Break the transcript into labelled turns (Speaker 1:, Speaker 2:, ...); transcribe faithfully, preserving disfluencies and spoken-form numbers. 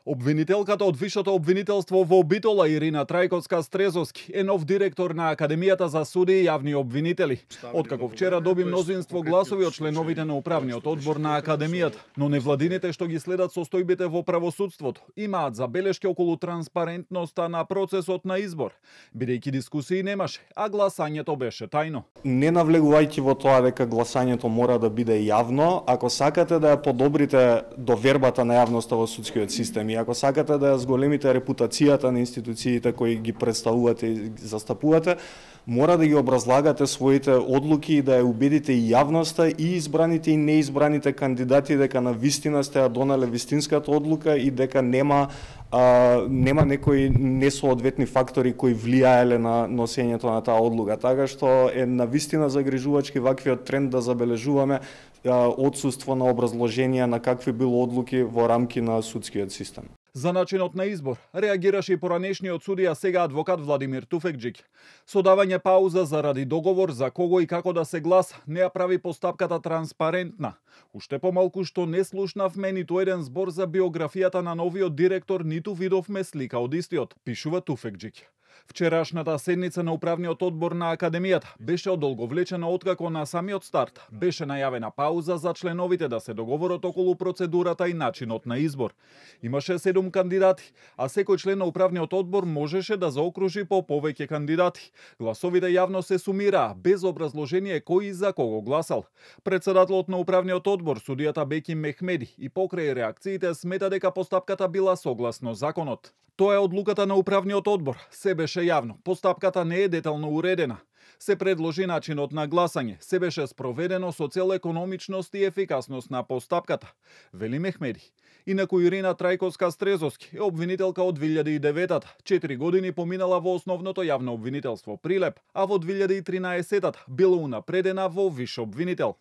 Speaker 1: Обвинителката од Висшето обвинителство во Битола Ирина Трајковска-Стрезовски е нов директор на Академијата за судии и јавни обвинители. Откако вчера доби мнозинство гласови од членовите на управниот одбор на Академијата, но невладините што ги следат состојбите во правосудството имаат забелешки околу транспарентноста на процесот на избор, бидејќи дискусии немаше, а гласањето беше тајно.
Speaker 2: Не навлегувајќи во тоа дека гласањето мора да биде јавно, ако сакате да ја подобрите довербата на јавноста во судскиот систем, и ако сакате да ја зголемите репутацијата на институциите кои ги представувате и застапувате, мора да ги образлагате своите одлуки и да ја убедите и јавноста и избраните и неизбраните кандидати дека на вистина сте ја донеле вистинската одлука и дека нема а, нема некои несоодветни фактори кои влијаеле на носењето на таа одлука. Така што е на вистина загрижувачки ваквиот тренд да забележуваме отсуство на образложенија на какви било одлуки во рамки на судскиот систем.
Speaker 1: За начинот на избор реагираше и поранешниот судија, сега адвокат Владимир Туфекџик. Со давање пауза заради договор за кого и како да се гласа, не ја прави постапката транспарентна. Уште помалку што не слушнавме ниту еден збор за биографијата на новиот директор, ниту видовме слика од истиот, пишува Туфекџик. Вчерашната седница на управниот одбор на Академијата беше одолговлечена откако на самиот старт беше најавена пауза за членовите да се договорат околу процедурата и начинот на избор. Имаше седум кандидати, а секој член на управниот одбор можеше да заокружи по повеќе кандидати. Гласовите јавно се сумираа, без образложение кој и за кого гласал. Председателот на управниот одбор, судијата Беки Мехмеди, и покрај реакциите смета дека постапката била согласно законот. Тоа е одлуката на управниот одбор. Се беше јавно. Постапката не е детално уредена. Се предложи начинот на гласање. Се беше спроведено со цел економичност и ефикасност на постапката, вели Мехмеди. Инаку Ирина Трајковска-Стрезовски е обвинителка од две илјади и девета. Четири години поминала во основното јавно обвинителство Прилеп, а во две илјади и тринаесета била унапредена во виш обвинител.